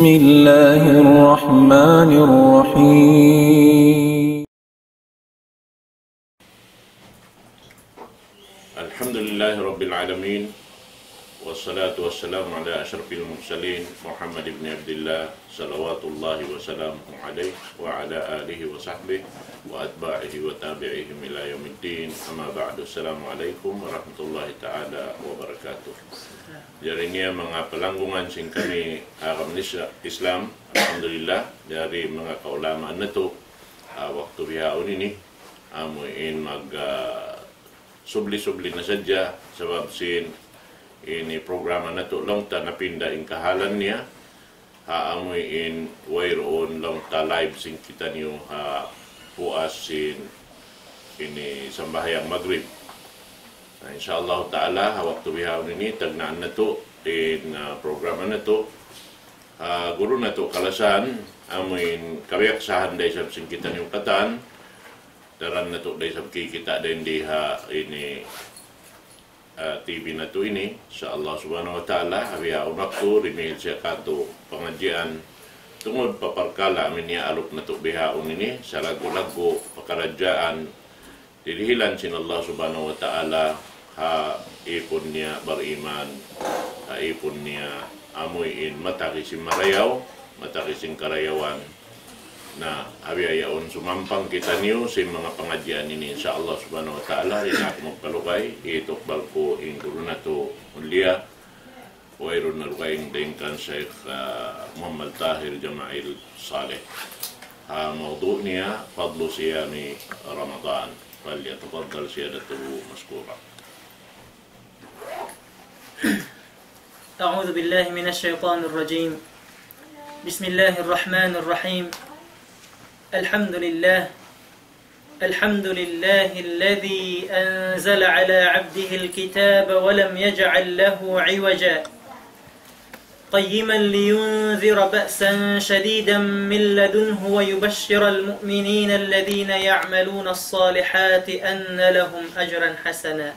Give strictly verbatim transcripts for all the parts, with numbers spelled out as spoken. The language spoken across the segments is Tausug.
بسم الله الرحمن الرحيم. الحمد لله رب العالمين، والصلاة والسلام على أشرف المرسلين محمد بن عبد الله، صلوات الله وسلامه عليه وعلى آله وصحبه وأتباعه وتابعيهم إلى يوم الدين. أما بعد، السلام عليكم ورحمة الله تعالى وبركاته. Jari niya manga palanggungan sin kami agama Isla-, Islam, alhamdulillah, jari manga kaulamaan natu', ah, waktu bihaun ini, amu in mag, ah, subli-subli na sadja, sabab sin ini programa natu' laung ta napinda in kahalan niya, ha amu in wayruun laung ta live sin kitaniyu ha puas sin ini sambahayang Magrib. Na, insya Allah Ta'ala, ha waktu bihaun ini, tagnaan natu' in, ah, programa natu'. Ah, guru natu' kalasahan, amu in kabiyaksahan da isab sin kitaniyu katan, daran natu' da isab kikita' dayn di ha ini, ah, T V natu' ini, insya Allah Subhanahu wa Ta'ala, ha bihaun waktu, dimihil siya katu' pangadjian, tungud pa parkala' amu in iyaalup natu' bihaun ini, salaggu'-laggu' pakaradjaan, dihilan sin Allah Subhanahu wa Ta'ala, ha ipun niya bariman, ha ipun niya amu in matagi sin marayaw, matagi sin karayawan. Na, ha bihaun sumampang kitaniyu sin manga pangadjian ini, insya Allah Subhanahu wa Ta'ala, di' na aku magpalugay, hitukbal ku in guru natu' mulia, wayruun na dugaing dayn kan Sheikh, ah, Muhammad Tahir Jama'il Saleh. Ha mawdu' niya, فضل صيام رمضان. فليتفضل سيادته مشكورا. أعوذ بالله من الشيطان الرجيم. بسم الله الرحمن الرحيم. الحمد لله. الحمد لله الذي أنزل على عبده الكتاب ولم يجعل له عوجا، قيما لينذر بأسا شديدا من لدنه ويبشر المؤمنين الذين يعملون الصالحات أن لهم أجرا حسنا.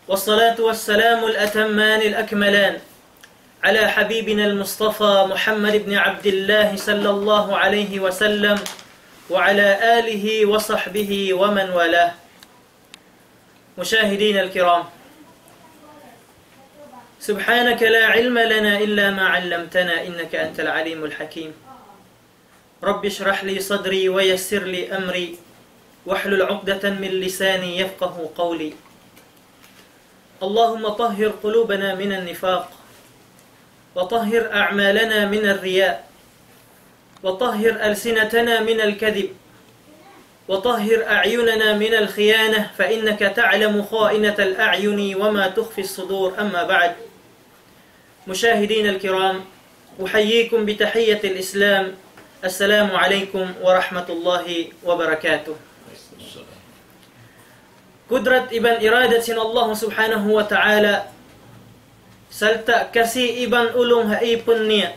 والصلاة والسلام الأتمان الأكملان على حبيبنا المصطفى محمد بن عبد الله صلى الله عليه وسلم وعلى آله وصحبه ومن والاه. مشاهدينا الكرام، سبحانك لا علم لنا إلا ما علمتنا إنك أنت العليم الحكيم. رب اشرح لي صدري ويسر لي أمري واحلل عقدة من لساني يفقه قولي. اللهم طهر قلوبنا من النفاق وطهر أعمالنا من الرياء وطهر ألسنتنا من الكذب وطهر أعيننا من الخيانة فإنك تعلم خائنة الأعين وما تخفي الصدور. أما بعد، مشاهدينا الكرام، أحييكم بتحية الإسلام. السلام عليكم ورحمة الله وبركاته. Kudrat iban iradat sin Allah Subhanahu wa Ta'ala, sarta' kasi iban ulung ha ipun niya,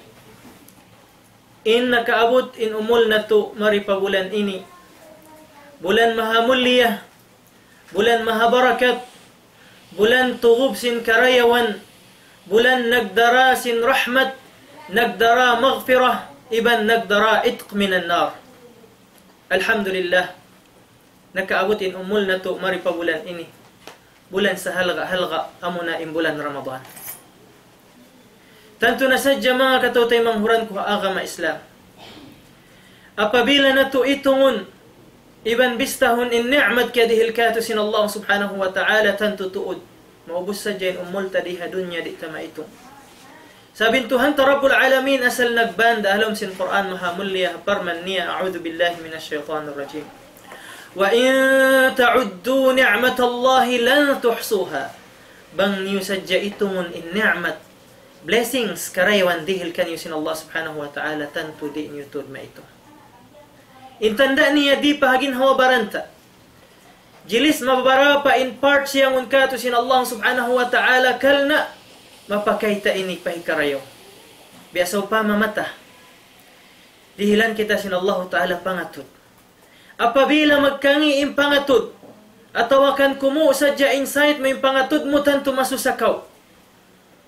in nakaabut in umul natu' mari pa bulan ini. Bulan maha mulia, bulan maha barakat, bulan tugub sin karayawan, bulan nagdara sin rahmat, nagdara maghfirah, iban nagdara itq minan nar. Alhamdulillah, nakaabut in umul natu' mari pa bulan ini. Bulan sahalga'-halga', amuna in bulan Ramadan. Tantu na sadja, manga kataymanghuran ku ha agama Islam, apabila natu' itungun iban bistahun in ni'mat kiyadihil kātu' sin Allah Subhanahu wa Ta'ala, tantu tuud maubus sadja in umul ta di ha dunya, di' ta maitung. Sabab in Tuhan ta Rabbul Alamin asal nagbanda ha lawm sin Qur'an maha mulia, parman niya, أعوذ بالله من الشيطان الرجيم. وإن تعدوا نعمة الله لن تحصوها. Bang niyu sadja itungun in ni'mat, blessings, karayawan dihil kaniyu sin Allah Subhanahu wa Ta'ala, tantu di' niyu tuud maitung. In tanda' niya di' pa ha ginhawa-baran ta. Jilis mababara pa in part siyangun kātu' sin Allah Subhanahu wa Ta'ala, karna' mapakay ta ini pa hikarayaw. Biya' sawpama mata. Dihilan kita sin Allah Ta'ala pangatud. Apabila magkangi' in pangatud, atawa kan kumu' sadja in sight mu, in pangatud mu, tantu masusa kaw.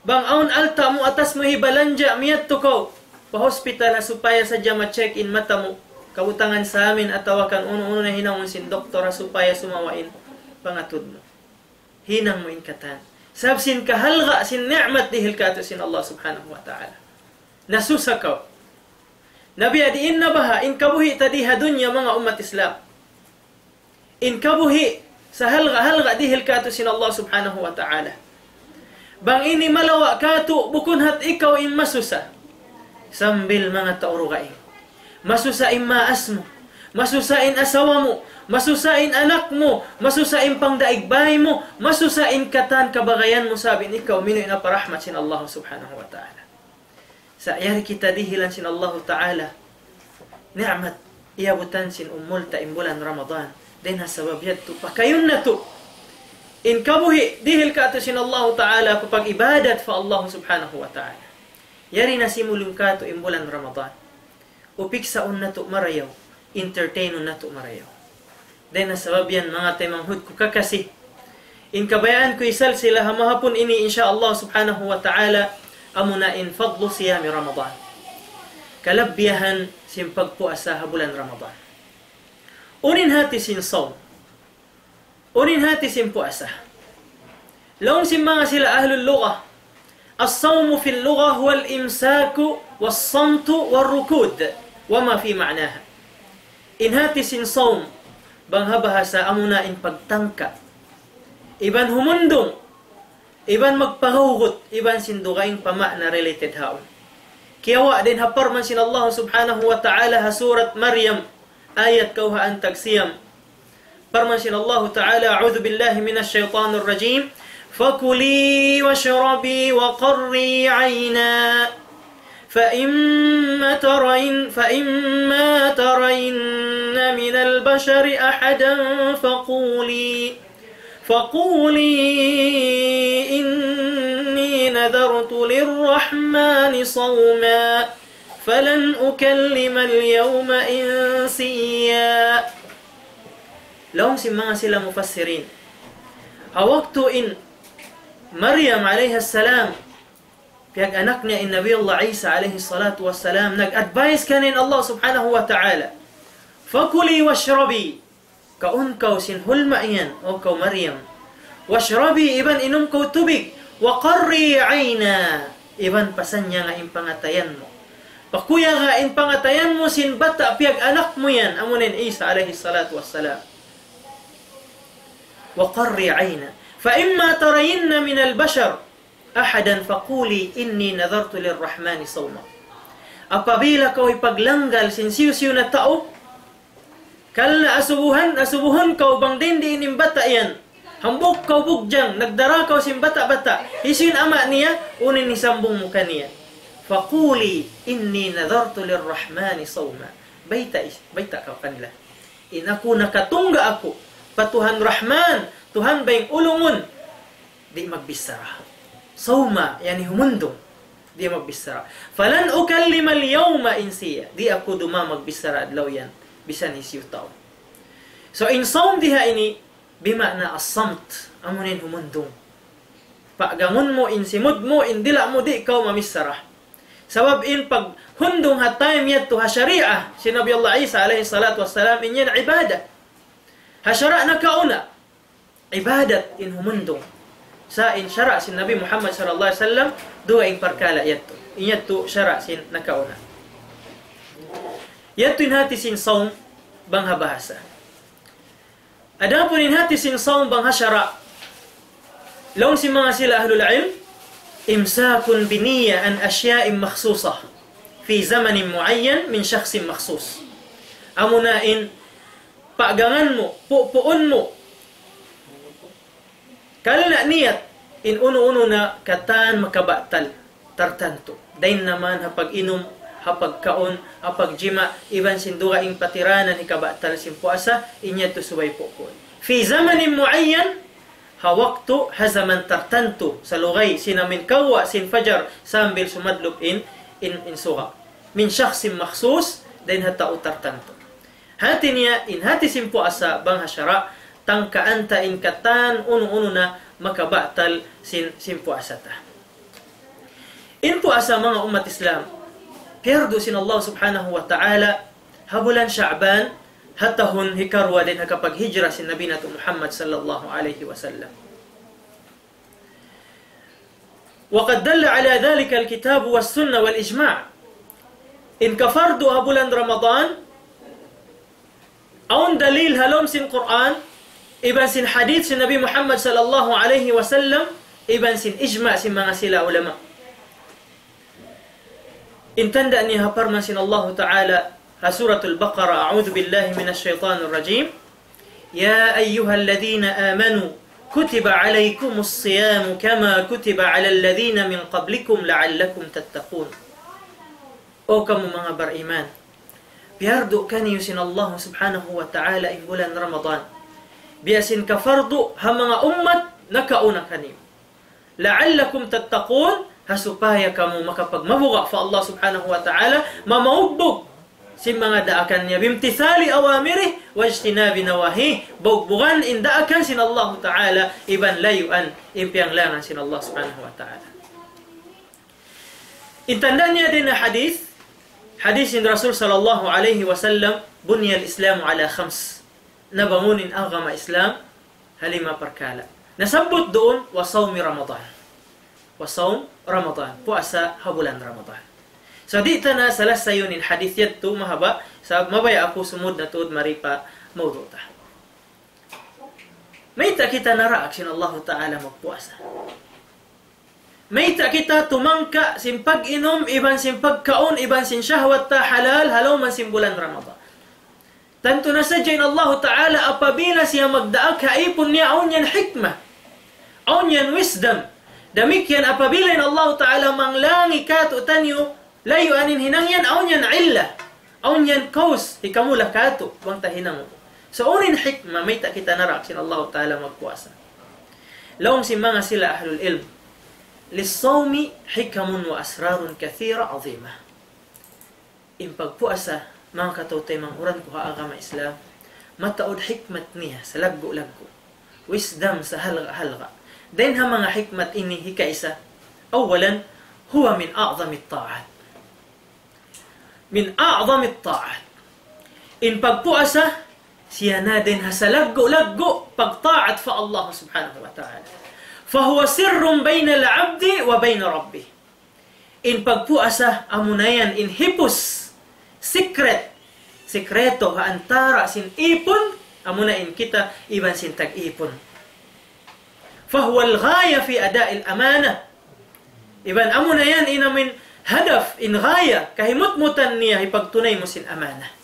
Bang awn alta' mu atas mu hibalanja', miyadtu kaw pa hospital ha supaya sadja ma-check in mata mu. Kabutangan sa amin atawa kan unu-unu na hinangun sin doktor ha supaya sumawa in pangatud mu. Hinang mu in katan. Sabab sin kahalga' sin ni'mat dihil kātu' sin Allah Subhanahu wa Ta'ala. Nasusa kaw. Na biya' diin na baha' in kabuhi' ta di ha dunya, manga ummat Islam. In kabuhi' sa halga'-halga' dihil kātu' sin Allah Subhanahu wa Ta'ala. Bang ini malawa' kātu', bukun hat ikaw in masusa. Sambil manga tau dugaing. Masusa in maas mu. Masusa in asawa mu. Masusa in anak mu. Masusa in pangdaig bay mu. Masusa in katan kabagayan mu sabab in ikaw miyadtu pa rahmat sin Allah Subhanahu wa Ta'ala. Sa' yari kita dihilan sin Allahu Ta'ala ni'mat iyabutan sin umul ta in bulan Ramadan. Dayn ha sabab yadtu, pakayun natu' in kabuhi' dihil kātu' sin Allahu Ta'ala pa pag-ibadat pa Allah Subhanahu wa Ta'ala. Yari na simulung kātu' in bulan Ramadan. Upiksaun natu' marayaw, entertainun natu' marayaw. Dayn ha sabab yan, manga taymanghud ku kakasi, in kabayaan ku isalsila ha mahapun ini, insya Allah Subhanahu wa Ta'ala, amuna in fadlu siyami Ramadan. Kalabihan sin pagpuasa ha bulan Ramadan. Unu in hāti sin sawm? Unu in hāti sin puasa? Laung sin manga sila ahlul lughah, الصوم في اللغة هو الإمساك والصمت والركود وما في معناها. In hāti sin sawm, bang ha bahasa amuna in pagtangka. Iban humundung, iban magpagawgut, iban sin dugaing pa ma'na related haun. Kiyawa' dayn ha parman sin Allah Subhanahu wa Ta'ala ha surat Maryam, ayat kawhaan tag siyam. Parman sin Allahu Ta'ala, أعوذ بالله من الشيطان الرجيم. فكلي واشربي وقري عينا فإما ترين، فإما ترين من البشر أحدا فقولي، فقولي إني نذرت للرحمن صوما فلن أكلم اليوم إنسيا. Laung sin manga sila mufassirin, ha waktu in Maryam alayhi salam, piyag-anak niya in Nabi Allah Isa alayhi salatu wassalam, nag-advise kaniya in Allah Subhanahu wa Ta'ala, فكلي واشربي, kaun kaw sin hulma yan, O kaw Maryam. واشربي, iban inum kaw tubig. وقري عينا, iban pasanyanga in pangatayan mu. Pakuyaga in pangatayan mu sin bata' piyag-anak mu yan, amuna in Isa alayhi salatu wassalam. وقري عينا فإما ترين من البشر أحدا فقولي إني نذرت للرحمن صوما. Apabila kaw hipaglanggal sin hisiyu-siyu na tau, karna' asubuhan, asubuhun kaw bang dayn diin in bata' yan. Hambuuk kaw bugjang, nagdara kaw sin bata'-bata'. Hisiyu in ama' niya, unu in hisambung mu kaniya? فقولي إني نذرت للرحمن صوما. Bayta' is-, bayta' kaw kanila. In aku nakatungga' aku pa Tuhan Rahman, Tuhan bayng ulungun, di' magbichara. Sawma, yani humundung. Di' magbichara. فلن أكلم اليوم إنسيا. Di' aku duma magbichara adlaw yan. Bisan hisiyu tau. So, in sawm diha ini, bima'na as-samt. Amuna in humundung. Paggangun mu, in simud mu, in dila' mu, di' kaw mamichara. Sabab in paghundung ha time yadtu ha sharia, sin Nabi Allah Isa alayhi salatu wassalam, in yan ibadat. Ha sara' nakauna, ibadat in humundung. Sa' in sara' sin Nabi Muhammad sallallahu alayhi wasallam, duwa in parkala' yadtu. In yadtu sara' sin nakauna. Yadtu in hati sin sawm bang ha bahasa. Adapun in hati sin sawm bang ha sara', laung sin manga sila ahlul ilm, إمساك بنية عن أشياء مخصوصة في زمن معين من شخص مخصوص. Amuna in paggangan mu, pupuun mu, karna' niyat in unu-unu na katan makabatal tartantu. Dayn naman ha pag-inum, ha pagkaun, ha pagjima', iban sin dugaing patiranan hikabatal sin puasa, in yadtu subay pupuun. في زمن معين, ha waktu, ha jaman tartantu, salugay sin amin kawwa' sin fajar sambil sumadlup in, in, in suga'. من شخص مخصوص, dayn ha tau tartantu. Hati niya, in hati sin puasa bang ha sara', tangkaan ta in katan unu-unu na makabatal sin, sin puasa ta. In puasa, manga ummat Islam, piyardu sin Allah Subhanahu wa Ta'ala ha bulan Sha'ban, ha tahun hikaruwa dayn ha kapaghijra sin Nabi natu' Muhammad sallallahu alayhi wasallam. وقد دل على ذلك الكتاب والسنة والإجماع. In kapardu ha bulan Ramadan, awn dalil ha lawm sin Qur'an, iban sin hadith sin Nabi Muhammad sallallahu alayhi wasallam, iban sin ijma' sin manga sila ulama. In tanda' niya ha parman sin Allahu Ta'ala ha Suratul Baqarah, أعوذ بالله من الشيطان الرجيم. يا أيها الذين آمنوا كتب عليكم الصيام كما كتب على الذين من قبلكم لعلكم تتقون. O kamu manga bariman, piyardu kaniyu sin Allah Subhanahu wa Ta'ala in bulan Ramadan, biya' sin kapardu ha manga ummat nakauna kaniyu. لعلكم تتقون, ha supaya kamu makapagmabuga' pa Allah Subhanahu wa Ta'ala, mamaugbug sin manga daakan niya, بامتثال أوامره واجتناب نواهيه, bugbugan in daakan sin Allah Ta'ala, iban layuan in piyanglangan sin Allah Subhanahu wa Ta'ala. In tanda' niya dayn ha hadith, hadith sin Rasul sallallahu alayhi wasallam, بني الإسلام على خمس. Nabangun in agama Islam ha lima parkala'. Nasabbut duun, وصوم رمضان. وصوم رمضان. Puasa ha bulan Ramadan. So, di' ta na salasayun in hadith yadtu mahaba', sa' mabaya' aku sumud na tuud mari pa mawdu' ta. Mayta' kita naraak sin Allahu Ta'ala magpuasa? Mayta' kita tumangka sin pag-inum, iban sin pagkaun, iban sin shahwat ta halal, ha lawm sin bulan Ramadan? Tantu na sadja in Allahu Ta'ala apabila siya magdaak ha ipun niya, awn yan hikmah, awn yan wisdom. Damikkiyan apabila in Allahu Ta'ala manglangi kātu'niyu, layuan in hinang yan, awn yan illa, awn yan cause, hikamula kātu', bang ta hinang. So, unu in hikmah, mayta' kita naraak sin Allahu Ta'ala magpuasa? Laung sin manga sila ahlul ilm, للصوم حكم وأسرار كثيرة عظيمة. In pagpuasa, manga kataymanghuran ku ha agama Islam, mataud hikmat niya salaggu'-laggu', wisdom sahalga'-halga'. Dayn ha manga hikmat ini hikaisa, أولا، هو من أعظم الطاعات. من أعظم الطاعات. In pagpuasa, siya na dayn ha salaggu'-laggu' pagtaat pa Allah Subhanahu wa Ta'ala. فهو سر بين العبد وبين ربه. In pagpuasa, amuna yan in hipus, secret, sikreto ha antara' sin ipun, amuna in kita iban sin tag-ipun. فهو الغاية في أداء الأمانة. Iban amuna yan in amuin hadaf, in ghaya, kahimutmutan niya hipagtunay mu sin amanah.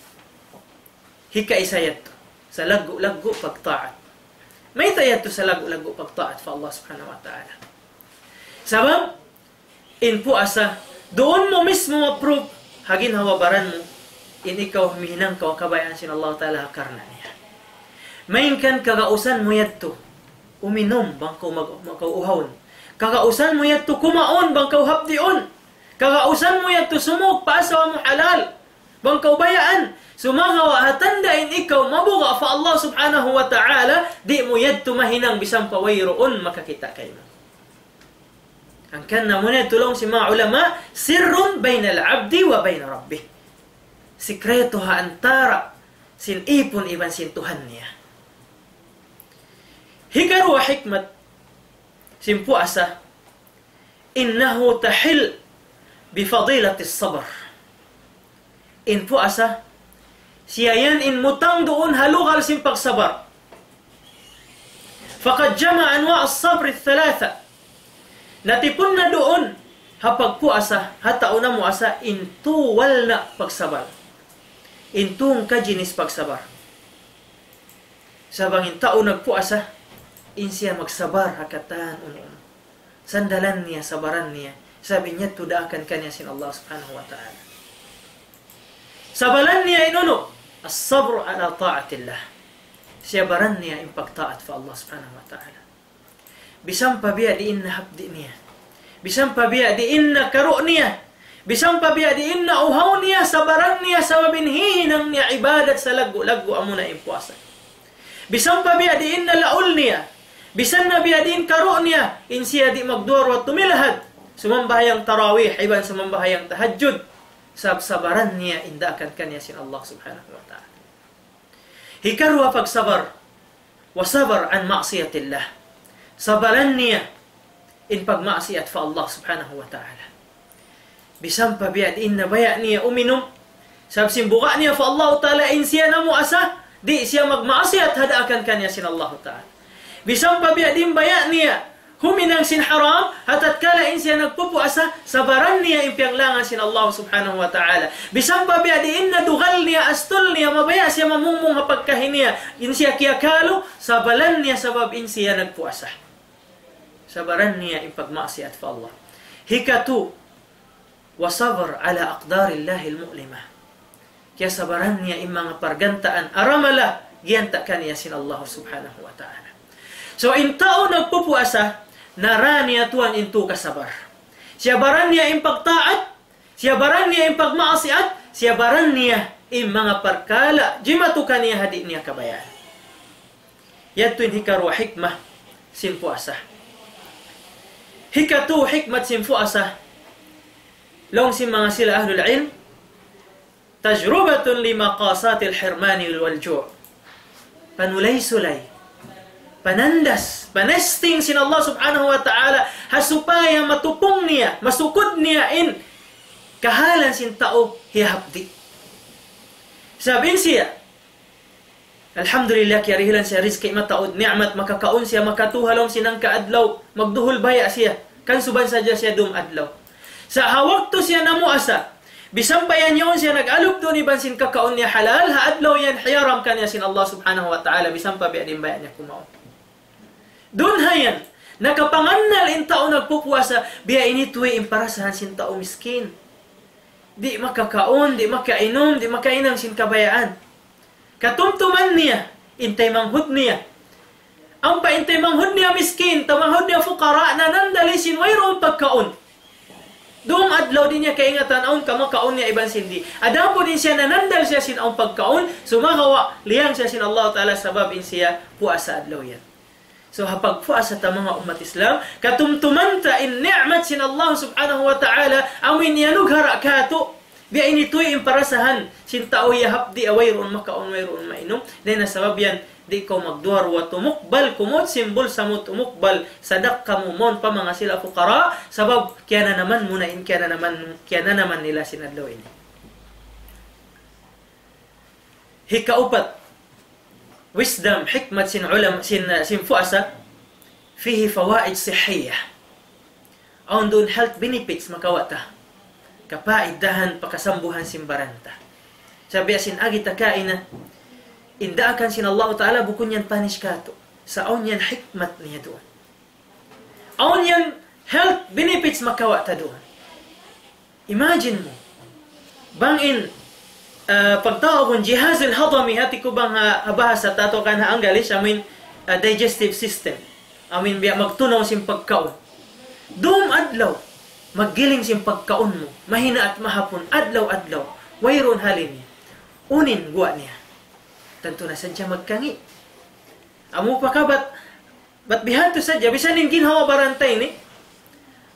Hikaisa yadtu, salaggu'-laggu' pagtaat. Mayta' yadtu salaggu'-laggu' pagtaat pa Allah Subhanahu wa Ta'ala? Sabab, in puasa, duun mu mismu ma-prove ha ginhawa-baran mu, in ikaw mihinang kaw kabayaan sin Allah Ta'ala ha karna' niya. Malayngkan kagausan mu yadtu uminum bang kaw mag-, mag-, kaw uhawun. Kagausan mu yadtu kumaun bang kaw hapdiun. Kagausan mu yadtu sumūg pa asawa mu halal bang kaw bayaan. Sumagawa' ha tanda' in ikaw mabuga' pa Allah Subhanahu wa Ta'ala, di' mu yadtu mahinang bisan pa wayruun makakita' kaymu. Hangkan na amuna yadtu laung sin manga ulama, سر بين العبد وبين ربه. Sikreto ha antara' sin ipun iban sin Tuhan niya. Hikaruwa hikmat sin puasa, إنه تحل بفضيلة الصبر. In puasa, siya yan in mutang duun ha lugal sin pagsabar. فقد جمع أنواع الصبر الثلاثة. Natipun na duun ha pagpuasa, ha tau namuasa, in tū walna' pagsabar. In tū kajinis pagsabar. Sa' bang in tau nagpuasa, in siya magsabar ha katan unu-unu. Sandalan niya, sabaran niya. Sabab in yadtu daakan kaniya sin Allah Subhanahu wa Ta'ala. Sabaran niya in unu, الصبر على طاعة الله. Sabaran niya in pagtaat pa Allah Subhanahu wa Ta'ala. Bisan pa biya' diin na hapdi' niya. Bisan pa biya' diin na karu' niya. Bisan pa biya' diin na uhaw niya, sabaran niya, sabab in hihinang niya ibadat salaggu'-laggu' amuna in puasa. Bisan pa biya' diin na laul niya. Bisan na biya' diin karu' niya, in siya di' magduwa-ruwa tumilahad. sumambahayang tarawih, iban sumambahayang tahajjud, sabab sabaran niya in daakan kaniya sin Allah Subhanahu wa Ta'ala. Hikaruwa pagsabar, وصبر عن معصية الله. Sabaran niya in pagmaasiyat pa Allah Subhanahu wa Ta'ala. Bisan pa biya' diin na baya' niya uminum, sabab sin buga' niya pa Allah Ta'ala in siya namuasa, di' siya magmaasiyat ha daakan kaniya sin Allah Ta'ala. Bisan pa biya' diin baya' niya huminang sin haram, ha tatkala in siya nagpupuasa, sabaran niya in piyanglangan sin Allah Subhanahu wa Ta'ala. Bisan pa biya' diin na dugal niya, astul niya, mabaya' siya mamungmung ha pagkahi niya, in siya kiyakalu, sabaran niya sabab in siya nagpuasa. Sabaran niya in pagmaasiyat pa Allah. Hikatu, وصبر على أقدار الله المؤلمة. Kiyasabaran niya in manga pargantaan aramala giyanta' kaniya sin Allah Subhanahu wa Ta'ala. So, in tau nagpupuasa, nara niya tuwan in tū kasabar. Siyabaran niya in pagtaat, siyabaran niya in pagmaasiyat, siyabaran niya in manga parkala' jimatu kaniya ha di' niya kabayaan. Yadtu in hikaruwa hikmah sin puasa. Hikatū hikmat sin puasa, laung sin manga sila ahlul ilm, تجربة لمقاسات الحرمان والجوع. Panulay-sulay, panandas, panesting sin Allah Subhanahu wa Ta'ala, ha supaya matupung niya, masukud niya in kahalan sin tau hiyahapdi'. Sabab in siya, alhamdulillah, kiyarihilan siya rizki mataud, ni'mat, makakaun siya, makatū ha lawm sin hangka adlaw, magduhul baya' siya, kansuban sadja siya dum adlaw. Sa' ha waktu siya namuasa, bisan pa yan yaun siya nag-alup duun iban sin kakaun niya halal, ha adlaw yan hiyaram kaniya sin Allah Subhanahu wa Ta'ala, bisan pa biya' diin baya' niya kumaun. Duun ha yan, nakapangannal in tau nagpupuasa, biya' ini tuwi in parasahan sin tau miskin. Di' makakaun, di' makainum, di' makahinang sin kabayaan. Katumtuman niya in taymanghud niya. Ampa in taymanghud niya miskin, taymanghud niya fukara, nanandal siya sin wayruun pagkaun. Dum adlaw di' niya kaingatan awn ka makaun niya iban sin di'. Adapun in siya nanandal siya sin awn pagkaun, sumagawa' liyang siya sin Allah Ta'ala sabab in siya puasa adlaw yan. So, ha pagpuasa ta manga ummat Islam, katumtuman ta in ni'mat sin Allah Subhanahu wa Ta'ala, amu in iyanughara' kātu', biya' ini tuwi in parasahan sin tau hiyahapdi' ha wayruun makaun, wayruun mainum, dayn ha sabab yan, di' kaw magduwa-ruwa tumukbal, kumud sin bulsa mu tumukbal, sadakka mu mawn pa manga sila fukara, sabab kiyananaman mu na in, kiyananaman, kiyananaman nila sin adlaw ini. Hikaupat, wisdom, hikmat sin ulama, sin, sin puasa, فيه فوائد صحية. Awn duun health benefits makawa' ta. Kapaidahan pa kasambuhan sin baran ta. Sabab sin agi ta kaina, in daakan sin Allah Ta'ala bukun yan punish kātu'. Sa' awn yan hikmat niya duun. Awn yan health benefits makawa' ta duun. Imagine mu, bang in, ah, pagtawagun jihaz al-hadami, hati ku bang ha, ha bahasa ta atawa kan ha Anggalis, amu in, ah, digestive system. Amu in biya' magtunaw sin pagkaun. Dum adlaw, maggiling sin pagkaun mu, mahinaat mahapun, adlaw-adlaw, wayruun hali niya. Unu in guwa' niya? Tantu na sadja magkangi'. Amu pa ka bat, bat bihadtu sadja, bisan in ginhawa-baran ta ini,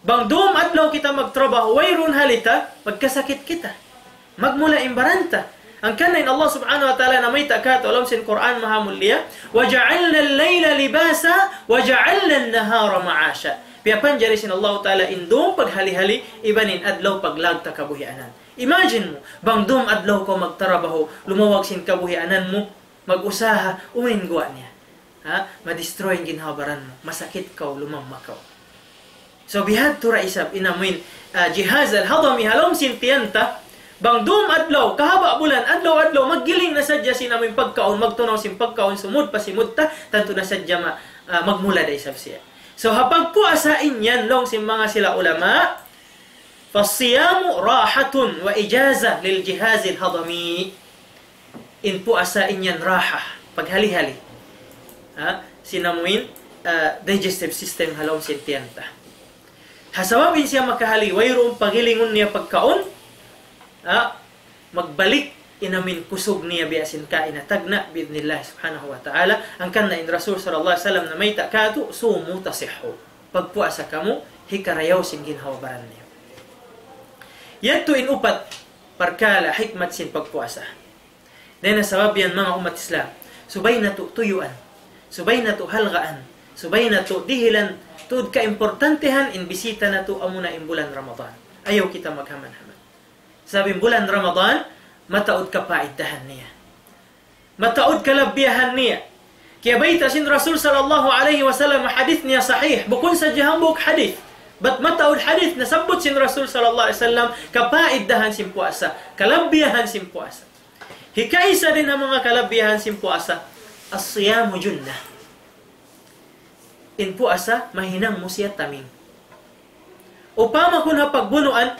bang dum adlaw kita magtrabaho, wayruun hali ta, magkasakit kita. Magmula in baran ta. Hangkan na in Allah Subhanahu wa Ta'ala namayta' kātu' ha lawm sin Qur'an Mahamulliya, وجعلنا الليل لباسا وجعلنا النهار معاشا. Piyapanjari sin Allah Ta'ala in dum paghali-hali, iban in adlaw paglawag ta kabuhianan. Imagine mu, bang dum adlaw kaw magtrabaho, lumawag sin kabuhianan mu, mag-usaha, unu in guwa' niya. Ha? Ma-destroy in ginhawa-baran mu, masakit kaw, lumamma kaw. So, bihadtu ra isab in amu in, ah, jihaz al-hadami ha lawm sin tiyan ta, bang dum adlaw, kahaba' bulan, adlaw-adlaw, maggiling na sadja sin amu in pagkaun, magtunaw sin pagkaun, sumud pa simud ta, tantu na sadja ma-, ah, magmula da isab siya. So, ha pagpuasa in yan, laung sin manga sila ulama, فالصيام راحة وإجازة للجهاز الهضمي. In puasa in yan raha, paghali-hali. Ha? Sin amu in, ah, digestive system ha lawm sin tiyan ta. Ha sabab in siya makahali, wayruun pagilingun niya pagkaun, ha? Magbalik in amu in kusug niya biya' sin kaina tagna' bi'idhnillah subhanahu wa ta'ala. Hangkan na in Rasul sallallahu alayhi wasallam namayta' kātu', صوموا تصحوا. Pagpuasa kamu, hikarayaw sin ginhawa-baran niyu. Yadtu in upat parkala' hikmat sin pagpuasa. Dayn ha sabab yan, manga ummat Islam, subay natu' tuyuan, subay natu' halgaan, subay natu' dihilan tuud kaimportantehan in bisita natu', amuna in bulan Ramadan. Ayaw kita maghaman-haman. Sabab in bulan Ramadan, mataud kapaiddahan niya. Mataud kalabbiyahan niya. Kiyabayta' sin Rasul sallallahu alayhi wasallam, hadith niya sahih. Bukun sadja hambuuk hadith. Bat mataud hadith nasabbut sin Rasul sallallahu alayhi wasallam, kapaiddahan sin puasa, kalabbiyahan sin puasa. Hikaisa dayn ha manga kalabbiyahan sin puasa, الصيام جنة. In puasa, mahinang mu siya taming. Upama kun ha pagbunuan,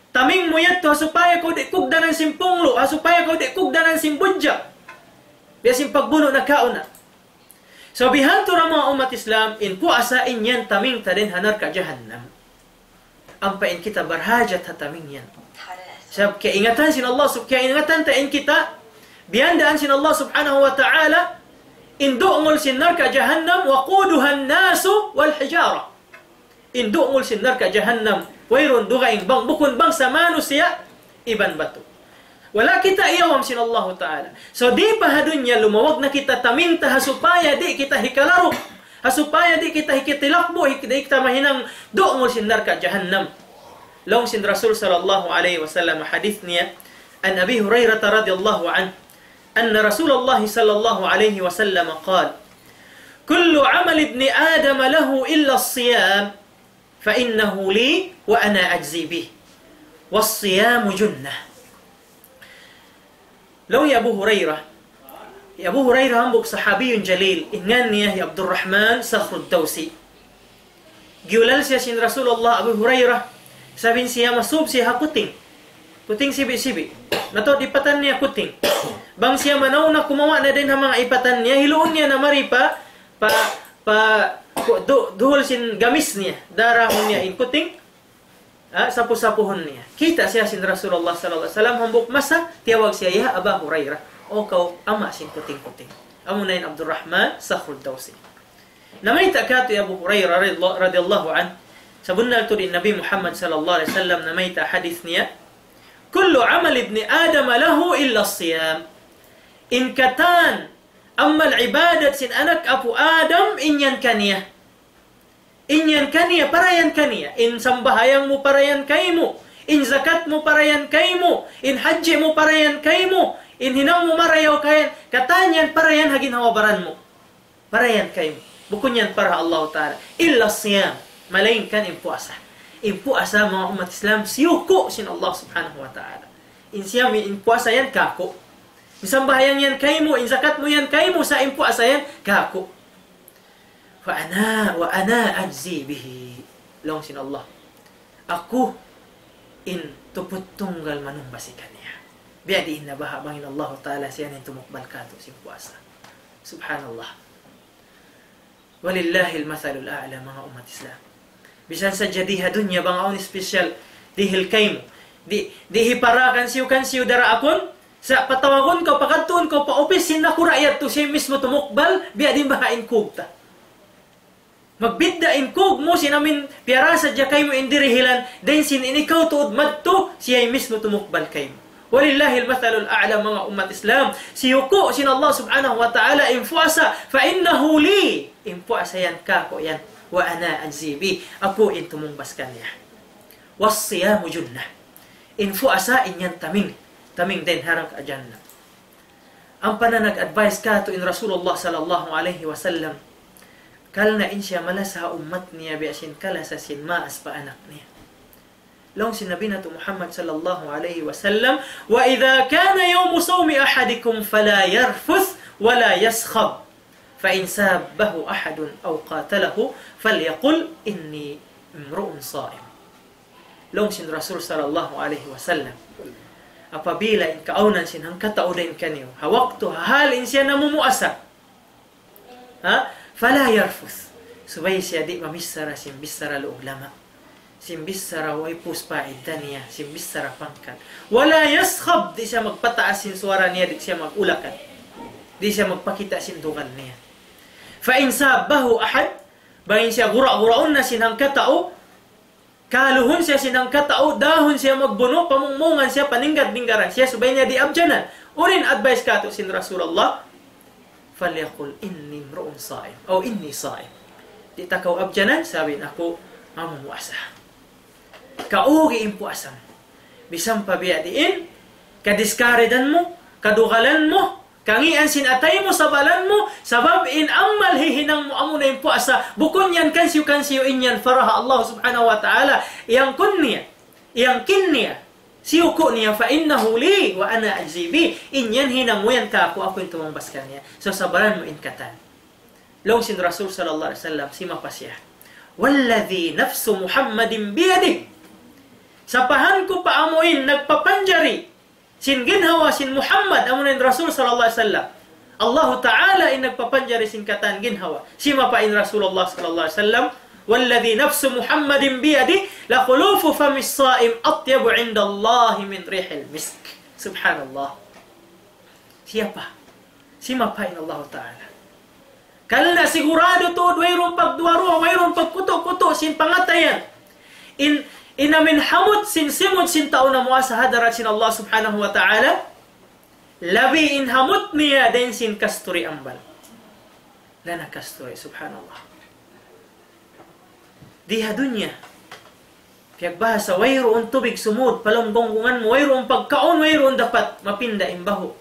taming mu yadtu ha supaya kaw di' kugdanan sin punglu', ha supaya kaw di' kugdanan sin budjak. Biya' sin pagbunu' nakauna. So, bihadtu ra manga ummat Islam, in puasa in yan taming ta dayn ha narka' jahannam. Ampa in kita barhajat ha taming yan. Sabab kaingatan sin Allah sub-, kaingatan ta in kita, biyandaan sin Allah subhanahu wa ta'ala, in du'ngul sin narka' jahannam, وقودها الناس والحجارة. In du'ngul sin narka' jahannam, wayruun dugaing bang, bukun bangsa manusiya' iban batu. Wala' kita iyawam sin Allahu Ta'ala. So, di' pa ha dunya lumawag na kita taming ta ha supaya di' kita hikalaruk, ha supaya di' kita hikitilakbu', hik-, di' kita mahinang du'ngul sin narka' jahannam. Laung sin Rasul sallallahu alayhi wasallam hadith niya, عن أبي هريرة رضي الله عنه أن رسول الله صلى الله عليه وسلم قال: كل عمل ابن آدم له إلا الصيام، فإنه لي وأنا أجزي به، والصيام جنة. Laung hi Abu Hurairah. Hi Abu Hurairah hambuuk sahabiyun jalil, in ngan niya hi Abdurrahman Sakhrud Dawsi. Giyulal siya sin Rasulullah, Abu Hurairah, sabab in siya masub siya ha kuting. Kuting sibi'-sibi'. Mataud ipatan niya kuting. Bang siya manaw na kumawa' na dayn ha manga ipatan niya, hiluun niya na mari pa, pa, pa, ku-, du-, duhul sin gamis niya. Darahun niya in kuting, ah, sapu-sapuhun niya. Kita' siya sin Rasulullah sallallahu alayhi wasallam, hambuuk masa, tiyawag siya, "Ya Aba Hurairah, o kaw ama' sin kuting-kuting." Amuna in Abdurrahman Sakhrud Dawsi. Namayta' katu' hi Abu Hurairah radiyallahu, radiyallahu anhu, sabunnal tuud in Nabi Muhammad sallallahu alayhi wasallam namayta' hadith niya, كل عمل ابن آدم له إلا الصيام. In katan amal ibadat sin anak apu' Adam, in yan kaniya. In yan kaniya, para yan kaniya. In sambahayang mu para yan kaymu. In zakat mu para yan kaymu. In hajji mu para yan kaymu. In hinang mu marayaw kayan. Katan yan para yan ha ginhawa-baran mu. Para yan kaymu. Bukun yan para ha Allah Ta'ala. إلا الصيام. Malaingkan in puasa. In puasa, manga ummat Islam, siyuku' sin Allah Subhanahu wa Ta'ala. In siyam, in puasa yan kāku'. In sambahayang yan kaymu, in zakat mu yan kaymu, sa' in puasa yan kāku'. فأنا، وأنا أجزي به. Laung sin Allah, aku in tuput tunggal manumbas kaniya. Biya' diin na baha' bang in Allah Ta'ala siya in tumukbal katu' sin puasa. Subhanallah. ولله المثل الأعلى, manga ummat Islam. Bisan sadja di ha dunya bang awn special dihil kaymu. Di', di' hipara kansiyu-kansiyu daraakun, sa' patawagun kaw, pakadtuun kaw pa upis sin nakura' yadtu, siya mismu tumukbal, biya' diin baha' in kūg ta. Magbidda' in kūg mu sin amin piyara sadja kaymu in dirihilan, dayn sin in ikaw tuud madtu, siya mismu tumukbal kaymu. ولله المثل الأعلى, manga ummat Islam. Siyuku' sin Allah Subhanahu wa Ta'ala in puasa, فإنه لي, in puasa yan kāku' yan. وأنا أجزي به, aku in tumungbas kaniya. والصيام جنة. In puasa in yan taming, taming dayn ha narka' jahannam. Ampa na nag-advise katu' in Rasulullah sallallahu alayhi wasallam, karna' in siya malasa ha ummat niya biya' sin kalasa sin maas pa anak niya. Laung sin Nabi natu' Muhammad sallallahu alayhi wasallam, وإذا كان يوم صوم أحدكم فلا يرفث ولا يصخب، فإن سابه أحد أو قاتله فليقل إني امرؤ صائم. Laung sin Rasul sallallahu alayhi wasallam, apabila in kaawnan sin hangkatau dayn kaniyu, ha waktu, ha hal in siya namumuasa, ha? فلا يرفث. Subay siya di' mamichara sin bichara luug lama'. Sin bichara way pus paidda niya, sin bichara pangkat. ولا يصخب, di' siya magpataas sin suwara niya, di' siya mag-ulakan. Di' siya magpakita' sin dugal niya. فإن سابه أحد, bang in siya gura'-gura'un na sin hangkatau, Kaluhun siya sin hangkatau, dahun siya magbunu', pamungmungan siya, paninggad-ninggaran siya, subay niya di' abjanan. Unu in advice katu' sin Rasulullah? فليقل إني امرؤ صائم أو إني صائم. Di' ta kaw abjanan, sabi niya aku mamumuasa. Kaugi in puasa mu. Bisan pa biya' diin, kadiskaridan mu, kadugalan mu, kangian sin atay mu, sabalan mu, sabab in amal hihinang mu amuna in puasa, bukun yan kansiyu-kansiyu in yan para ha Allah subhanahu wa ta'ala, iyangkun niya, iyangkin niya, siyuku' niya, فإنه لي وأنا أجزي به, in yan hinang mu yan kāku', aku in tumangbas kaniya. So, sabaran mu in katan. Laung sin Rasul sallallahu alayhi wasallam, simapa siya. والذي نفس محمد بيده. Sapahan ku pa amu in nagpapanjari sin ginhawa sin Muhammad, amuna in Rasul sallallahu alayhi wasallam. Allahu Ta'ala in nagpapanjari sin katan ginhawa. Simapa in Rasulullah sallallahu alayhi wasallam, والذي نفس محمد بيده لخلوف فم الصائم أطيب عند الله من ريح المسك. Subhanallah. Siyapa? Simapa in Allahu Ta'ala. Karna' siguradu tuud wayruun pagduwa-ruwa, wayruun pagkutu'-kutu' sin pangatayan. In, in amin hamut sin simud sin tau namuasa ha hadarat sin Allah subhanahu wa ta'ala, labi in hamut niya dayn sin kasturi ambal. Na na kasturi, subhanallah. Di ha dunya, piyagbahasa, wayruun tubig sumud pa lawm gunggungan mu, wayruun pagkaun, wayruun dapat mapinda in bahu'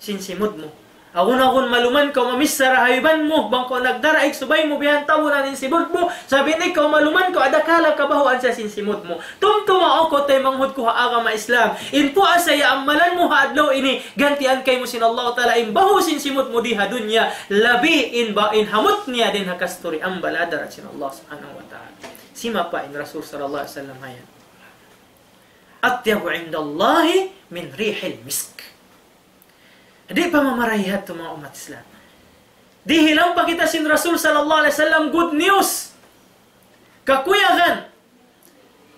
sin simud mu. Agun-agun maluman kaw mamissara ha iban mu, bang kaw nagdaraig subay mu bihan tabunan in simud mu, sabab in ikaw maluman kaw adakala kabahuan siya sin simud mu. Tumtuma aku taymanghud ku ha agama Islam. In puasa ya amalan mu ha adlaw ini, gantian kaymu sin Allah Ta'ala in bahu' sin simud mu di ha dunya, labi in ba-, in hamut niya dayn ha kasturi ambal ha hadarat sin Allah Subhanahu wa Ta'ala. Simapa in Rasul sallallahu alayhi wasallam ha yan. أطيب عند الله من ريح المسك. Di' pa mamarayaw yadtu, manga ummat Islam. Dihilan pa kita sin Rasul sallallahu alayhi wasallam good news. Kakuyagan.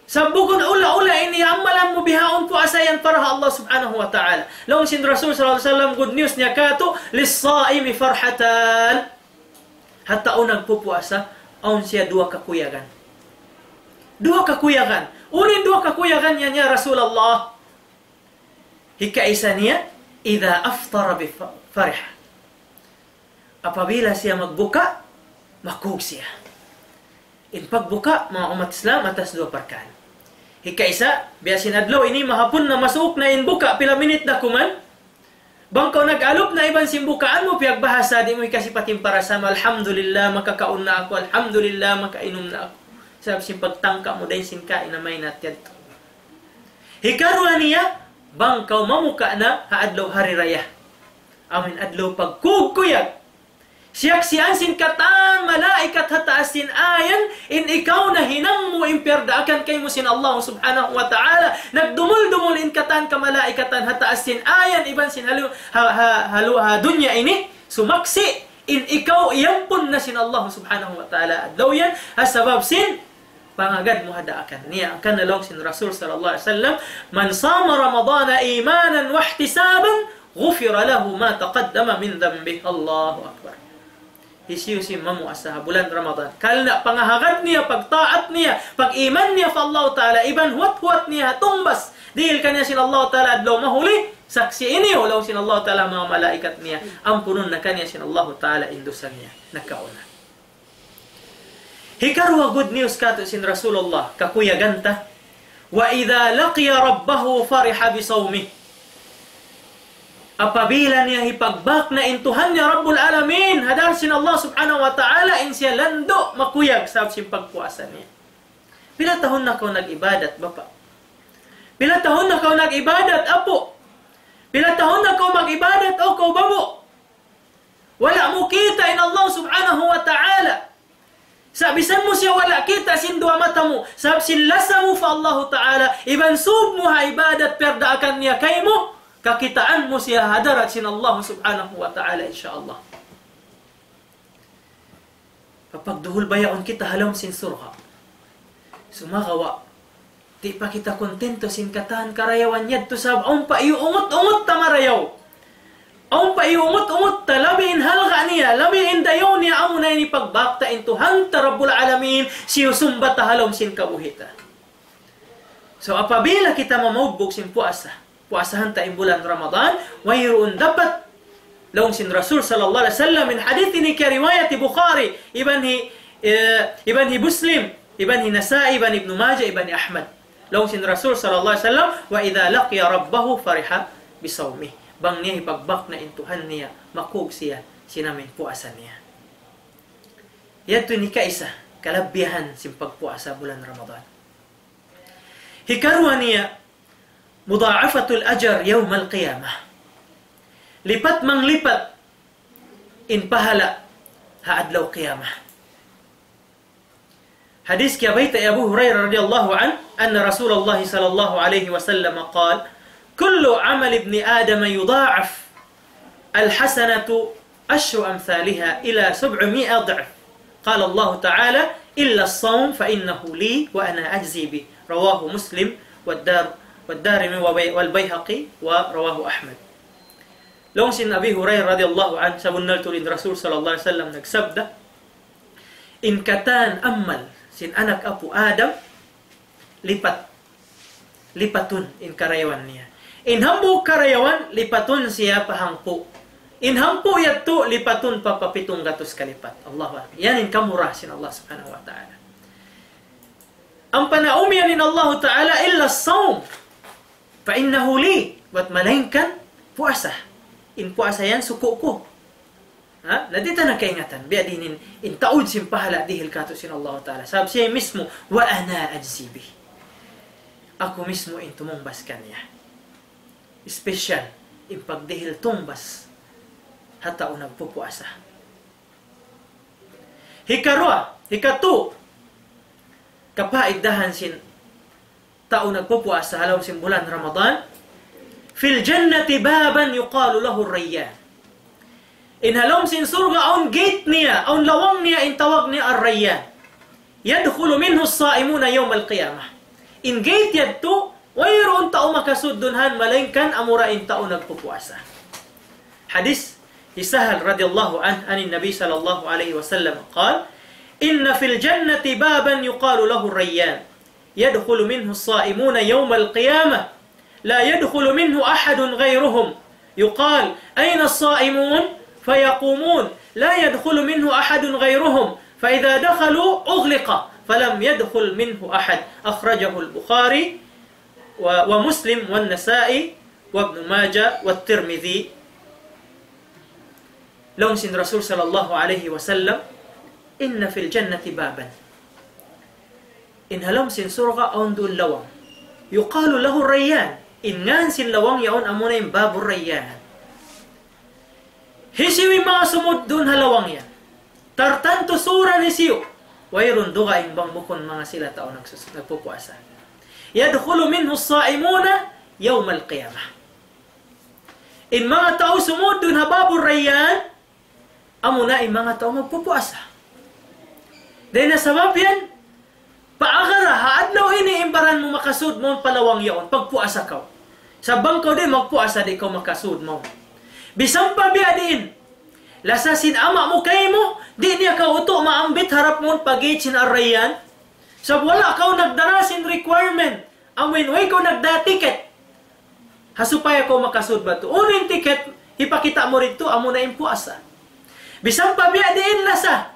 Sa' bukun ula-ula ini amalan mu bihaun puasa yan para ha Allah subhanahu wa ta'ala. Laung sin Rasul sallallahu alayhi wasallam, good news niya katu', للصائم فرحتان. Ha tau nagpupuasa, awn siya duwa kakuyagan. Duwa kakuyagan. Unu in duwa kakuyagan niya, ya Rasulullah? Hikaisa niya, إذا أفطر بف-، فرح. Apabila siya magbuka, makug siya. In pagbuka, manga ummat Islam, atas duwa parkala'. Hikaisa, biya' sin adlaw ini mahapun na, masuuk na in buka, pila minit da kuman. Bang kaw nag-alup na iban sin bukaan mu, piyagbahasa, di' mu hikasipat in parasama, "Alhamdulillah, makakaun na aku, alhamdulillah, makainum na aku." Sabab sin pagtangka mu dayn sin kain na maynat yadtu. Hikaruwa niya, bang kaw mamuka na ha adlaw hari raya. Amu in adlaw pagkukuyag. Siyaksian sin katan malaikat ha taas sin ayan, in ikaw nahinang mu in piyardaakan kaymu sin Allah subhanahu wa ta'ala. Nagdumul-dumul in katan kamalaikatan ha taas sin ayan, iban sin halu-, ha, ha, halu-, ha dunya ini, sumaksi', in ikaw iyampun na sin Allah subhanahu wa ta'ala. Adlaw yan, ha sabab sin pangagad mu ha daakan niya. Hangkan laung sin Rasul sallallahu alayhi wasallam, من صام رمضان إيمانا واحتسابا غفر له ما تقدم من ذنبه. Allahu Akbar. Hisiyu-siyu in mamuasa ha bulan Ramadan, karna' pangahagad niya, pagtaat niya, pag-iman niya pa Allah Ta'ala, iban huwat-huwat niya ha tungbas dihil kaniya sin Allah Ta'ala adlaw mahuli, saksi' ini, laung sin Allah Ta'ala, manga malaikat niya, ampunun na kaniya sin Allah Ta'ala in dusa niya nakauna. Hikaruwa good news katu' sin Rasulullah, kakuyagan ta. وإذا لقي ربه فرح بصومه. Apabila niya hipagbak na in Tuhan niya Rabbul Alamin, ha hadarat sin Allah Subhanahu wa Ta'ala, in siya landu' makuyag sabab sin pagpuasa niya. Pila tahun na kaw nag-ibadat, bapa'? Pila tahun na kaw nag-ibadat, apu'? Pila tahun na kaw mag-ibadat, o kaw babu'? Wala' mu kita' in Allah Subhanahu wa Ta'ala. Sa' bisan mu siya wala' kita' sin duwa mata mu, sabab sin lasa mu pa Allahu Ta'ala, iban sūb mu ha ibadat piyardaakan niya kaymu, kakitaan mu siya ha hadarat sin Allah Subhanahu wa Ta'ala, insya Allah. Papagduhul bayaun kita ha lawm sin surga'. Sumagawa', di' pa kita kontento sin katan karayawan yadtu sabab awn pa iyuungut-ungut ta marayaw. Awn pa iyuungut-ungut ta, labi in halga' niya, labi in dayaw niya, amuna in hipagbak ta in Tuhan ta Rabbul Alamin, siyusumba ta ha lawm sin kabuhi' ta. So, apabila kita mamaugbug sin puasa, puasahan ta in bulan Ramadan, wayruun dapat. Laung sin Rasul sallallahu alayhi wasallam, in hadith ini kiyariwayat hi Bukhari, iban hi, eh, iban hi Muslim, iban hi Nasa'i, iban Ibnu Majah, iban hi Ahmad. Laung sin Rasul sallallahu alayhi wasallam, وإذا لقي ربه فرح بصومه. Bang niya hipagbak na in Tuhan niya, makug siya sin amu in puasa niya. Yadtu in hikaisa, kalabihan sin pagpuasa bulan Ramadan. Hikaruwa niya, مضاعفة الأجر يوم القيامة. Lipat manglipat in pahala' ha adlaw qiyamah. Hadith kiyabayta' hi Abu Hurairah radiyallahu anhu, أن رسول الله صلى الله عليه وسلم قال: كل عمل ابن آدم يضاعف، الحسنة عشر أمثالها إلى سبعمائة ضعف. قال الله تعالى: إلا الصوم فإنه لي وأنا أجزي به. رواه مسلم والدار-، والدارمي وبي-، والبيهقي ورواه أحمد. Laung sin Abi Hurairah radiyallahu anhu, sabunnal tuud in Rasul sallallahu alayhi wasallam nagsabda, in katan amal sin anak apu' Adam, lipat. Lipatun in karayawan niya. In hambuuk karayawan, lipatun siya pa hangpu'. In hangpu' yadtu, lipatun pa, pa pitung gatus kalipat. Allahu Akbar. Yan in kamura sin Allah Subhanahu wa Ta'ala. Ampa na umiyan in Allahu Ta'ala, إلا الصوم فإنه لي. Bat malaingkan puasa. In puasa yan suku' ku. Ha? Na di' ta na kaingatan. Biya' diin in, in taud sin pahala' dihil kātu' sin Allahu Ta'ala. Sabab siya mismu, وأنا أجزي به. Aku mismu in tumungbas kaniya. Special in pagdihil tungbas ha tau nagpupuasa. Hikaruwa, hikatū, kapaidahan sin tau nagpupuasa ha lawm sin bulan Ramadan, في الجنة بابا يقال له الريان. In ha lawm sin surga' awn gate niya, awn lawang niya, in tawag niya Ar-Rayyan. يدخل منه الصائمون يوم القيامة. In gate yadtu, wayruun tau makasud duun han malaingkan amura in tau nagpupuasa. Hadith hi Sahal radiyallahu anhu, عن النبي صلى الله عليه وسلم قال: إن في الجنة بابا يقال له الريان، يدخل منه الصائمون يوم القيامة، لا يدخل منه أحد غيرهم، يقال: أين الصائمون؟ فيقومون، لا يدخل منه أحد غيرهم، فإذا دخلوا أغلق، فلم يدخل منه أحد. أخرجه البخاري و-، ومسلم والنسائي وابن ماجه والترمذي. Laung sin Rasul sallallahu alayhi wasallam, إن في الجنة بابا. In ha lawm sin surga' awn duun lawang. يقال له الريان. In ngān sin lawang yaun amuna in Babur Rayyan. Hisiyu in manga sumud duun ha lawang yan? Tartantu sūran hisiyu? Wayruun dugaing bang bukun manga sila tau nagsus-, nagpupuasa. يدخل منه الصائمون يوم القيامة. In manga tau sumud duun ha Babur Rayyan, amuna in manga tau magpupuasa. Dayn ha sabab yan, paagara ha adlaw ini in baran mu makasud mawn pa lawang yaun, pagpuasa kaw. Sa' bang kaw di' magpuasa, di' kaw makasud mawn. Bisan pa biya' diin, lasa sin ama' mu kaymu, di' niya kaw utu' maambit harap mawn pa gate sin Ar-Rayyan. Sa' wala' kaw nagdara sin requirement, amuin way kaw nagda ticket. Ha supaya kaw makasud batu. Unu in ticket, hipakita' mu didtu, amuna in puasa. Bisan pa biya' diin lasa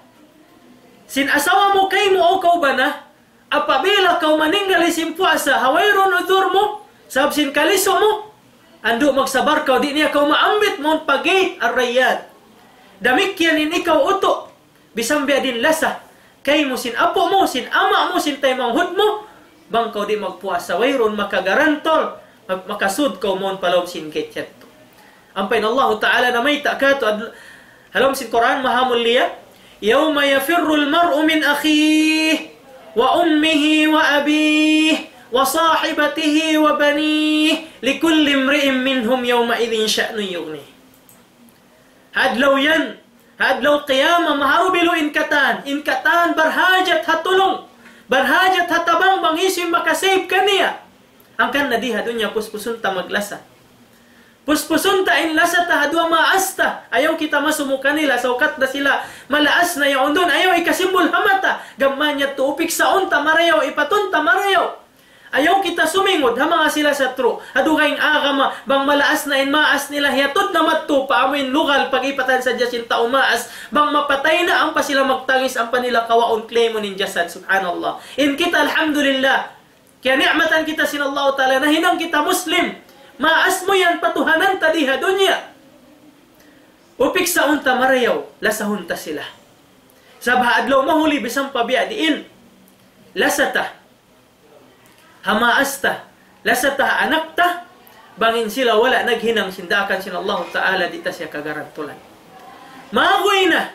sin asawa mu kaymu o kaw bana, apabila kaw maninggal sin puasa, ha wayruun udhur mu, sabab sin kalisu mu, andu' magsabar kaw, di' niya kaw maambit mawn pa gate Ar-Rayyan. Damikkiyan in ikaw utu'. Bisan biya' diin lasa kaymu sin apu' mu, sin ama' mu, sin taymanghud mu, bang kaw di' magpuasa, wayruun makagarantul, ma-, makasud kaw mawn pa lawm sin gate yadtu. Ampa in Allahu Ta'ala namayta' kātu' ad-, ha lawm sin Qur'an maha mulia, يوم يفر المرء من أخيه وأمه وأبيه وصاحبته وبنيه لكل امرئ منهم يومئذ شأن يغنيه. Ha adlaw yan, ha adlaw qiyamah, maharubilu in katan, in katan barhajat ha tulung, barhajat ha tabang bang hisiyu in makasave kaniya. Hangkan na di ha dunya puspusun ta maglasa. Puspusun ta in lasa ta ha duwa maas ta, ayaw kita masumu kanila, sa' ukat da sila malaas na yaun duun, ayaw ikasimbul ha mata, gam mayan yadtu upiksaun ta marayaw, ipatun ta marayaw. Ayaw kita sumingud ha manga sila satru' ha dugaing agama, bang malaas na in maas nila, hiyatud na madtu pa amuin lugal, pag-ipatan sadja sin tau maas, bang mapatay na ampa sila magtangis, ampa nila kawaun, claimun in jasad, subhanallah. In kita, alhamdulillah, kiyani'matan kita sin Allah Ta'ala, nahinang kita Muslim, maas mu yan patuhanan ta di ha dunya. Upiksaun ta marayaw, lasahun ta sila. Sabab ha adlaw mahuli bisan pa biya' diin, lasa ta ha maas ta, lasa ta ha anak ta, bang in sila wala' naghinang sin daakan sin Allahu Ta'ala, di' ta siya kagarantulan. Maguy na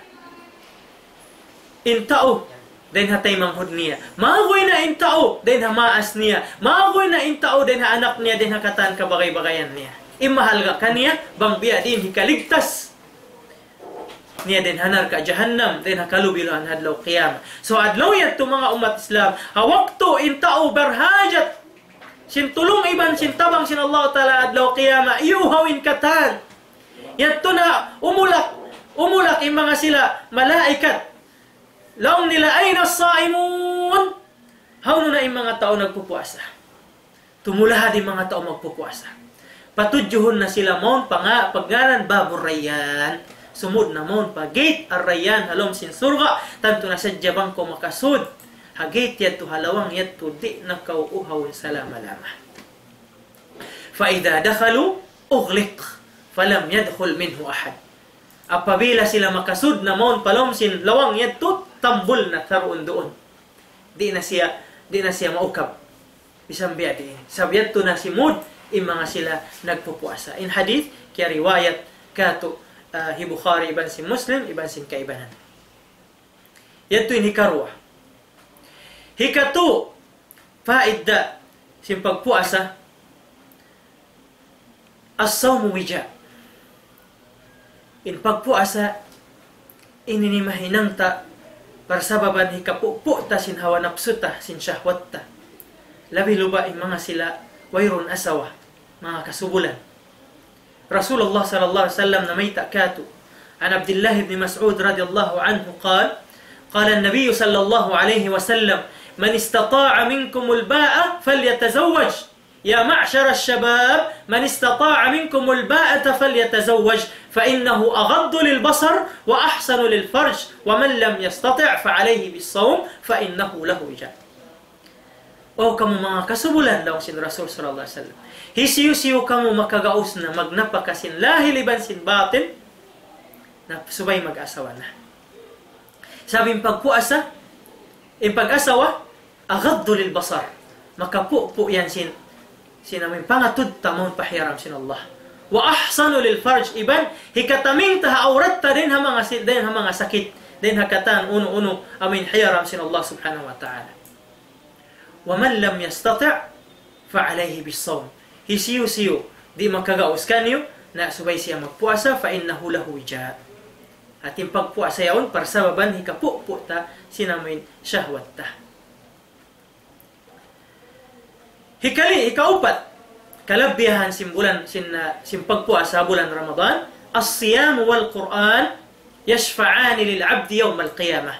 in tau dayn ha taymanghud niya. Maguy na in tau dayn ha maas niya. Maguy na in tau dayn ha anak niya, dayn ha katan kabagay-bagayan niya. In mahalga' kaniya, bang biya' diin hikaligtas niya dayn ha narka' jahannam, dayn ha kalubi-lubihan ha adlaw qiyamah. So, adlaw yadtu manga ummat Islam, ha waktu in tau barhajat sin tulung iban sin tabang sin Allah Ta'ala adlaw qiyamah, iyuhaw in katan. Yadtu na umulak, umulak in manga sila malaikat. Laung nila, "Ayna as-saimun?" Hawnu na in manga tau nagpupuasa? Tumulahad in manga tau magpupuasa. Patudjuhun na sila mawn pa nga-, pagngānan Babur Rayyan. Sumud na mawn pa gate Ar-Rayyan ha lawm sin surga', tantu na sadja bang kaw makasud ha gate yadtu, ha lawang yadtu, di' na kaw uhawun salama-lama. فإذا دخلوا أغلق فلم يدخل منه أحد. Apabila sila makasud na mawn pa lawm sin lawang yadtu, tambul na taruun duun. Di' na siya, di' na siya maukab. Bisan biya' diin. Sabab yadtu na simud in manga sila nagpupuasa. In hadith, kiyariwayat katu', ah, hi Bukhari iban sin Muslim, iban sin kaibanan. Yadtu in hikaruwa. Hikatu, faida sin pagpuasa, الصوم وجاء. In pagpuasa, ini in mahinang ta, parsababan hikapupu' ta sin hawa napsu ta, sin shahwat ta. Labi-labi in manga sila wayruun asawa, manga kasubulan. Rasulullah sallallahu alayhi wasallam namayta' katu'. عن عبد الله بن مسعود رضي الله عنه قال: قال النبي صلى الله عليه وسلم: من استطاع منكم الباءة فليتزوج. يا معشر الشباب، من استطاع منكم الباءة فليتزوج، فإنه أغض للبصر وأحصن للفرج، ومن لم يستطع فعليه بالصوم فإنه له وجاء. O kamu manga kasubulan, laung sin Rasul sallallahu alayhi wasallam, hisiyu-siyu kamu makagaus na magnapaka sin lahil iban sin batin, na subay mag-asawa na. Sabab in pagpuasa, in pag-asawa, أغض للبصر. Makapupu' yan sin, sin amuin pangatud ta mawn pa hiyaram sin Allah. وأحصن للفرج, iban hikataming ta ha awrat ta dayn ha manga si-, dayn ha manga sakit, dayn ha katan unu-unu amuin hiyaram sin Allah subhanahu wa ta'ala. ومن لم يستطع فعليه بالصوم. Hisiyu-siyu di' makagaus kaniyu, na subay siya magpuasa, فإنه له وجاء. Hati in pagpuasa yaun, parsababan hikapupu' ta sin amuin shahwat ta. Hikali, hikaupat, kalabihan sin bulan, sin, ah, sin pagpuasa bulan Ramadan, الصيام والقرآن يشفعان للعبد يوم القيامة.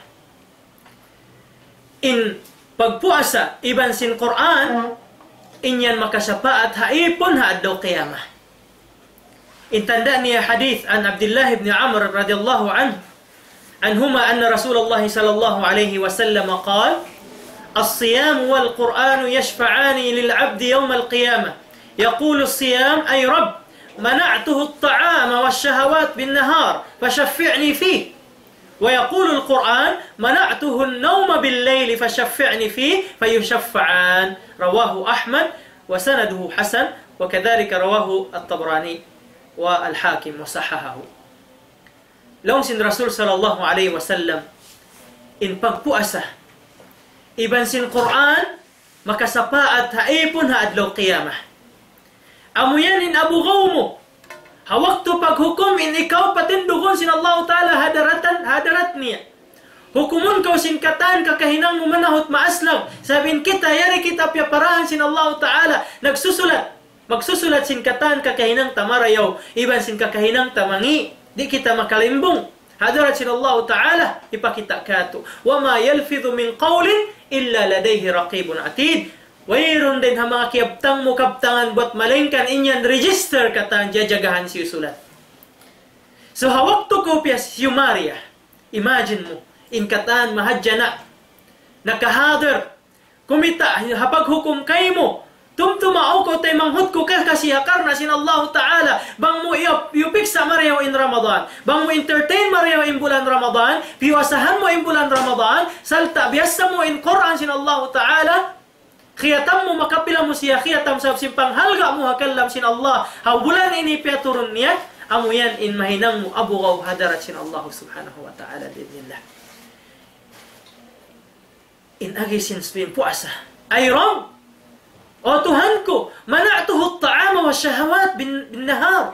In pagpuasa iban sin Qur'an, in yan makasapaat ha ipun ha adlaw qiyamah. In tanda' niya hadith عن عبد الله بن عمرو رضي الله عنه، عنهما أن رسول الله صلى الله عليه وسلم قال: الصيام والقرآن يشفعان للعبد يوم القيامة. يقول الصيام: أي رب، منعته الطعام والشهوات بالنهار، فشفعني فيه. ويقول القرآن: منعته النوم بالليل فشفعني فيه، فيشفعان. رواه أحمد وسنده حسن، وكذلك رواه الطبراني والحاكم وصححه. Laung sin Rasul sallallahu alayhi wasallam, in pagpuasa iban sin Qur'an makasapaat ha ipun ha adlaw qiyamah. Amu yan in abugaw mu ha waktu paghukum in ikaw patindugun sin Allahu Ta'ala ha daratan, ha darat niya. Hukumun kaw sin katan kakahinang mu manahut maaslag. Sabab in kita, yari kita piyaparahan sin Allahu Ta'ala. Nagsusulat. Magsusulat sin katan kakahinang ta marayaw, iban sin kakahinang ta mangi'. Di' kita makalimbung. Ha darat sin Allahu Ta'ala, hipakita' katu'. وما يلفظ من قول إلا لديه رقيب عتيد. Wayruun dayn ha manga kiyabtang mu kabtangan buat malaingkan in yan register katan jajagahan siyusulat. So ha waktu ku piyas humariya, imagine mu, in katan mahadjana, nakahadir, kumita' ha paghukum kaymu, tumtuma aku taymanghud ku ka kasi ha karna' sin Allahu Ta'ala, bang mu iyup-, iyupiksa' marayaw in Ramadan, bang mu entertain marayaw in bulan Ramadan, piyuasahan mu in bulan Ramadan, sarta' biyassa mu in Qur'an sin Allahu Ta'ala, khiyatam mu, makapila mu siya khiyatam sabab sin panghalga' mu ha kalam sin Allah, ha bulan ini piyaturun niya, amu yan in mahinang mu abugaw ha hadarat sin Allah Subhanahu wa Ta'ala bi'idhnillah. In agi sin puasa. Ay Rabb, O Tuhan ku, منعته الطعام والشهوات بال-, بالنهار.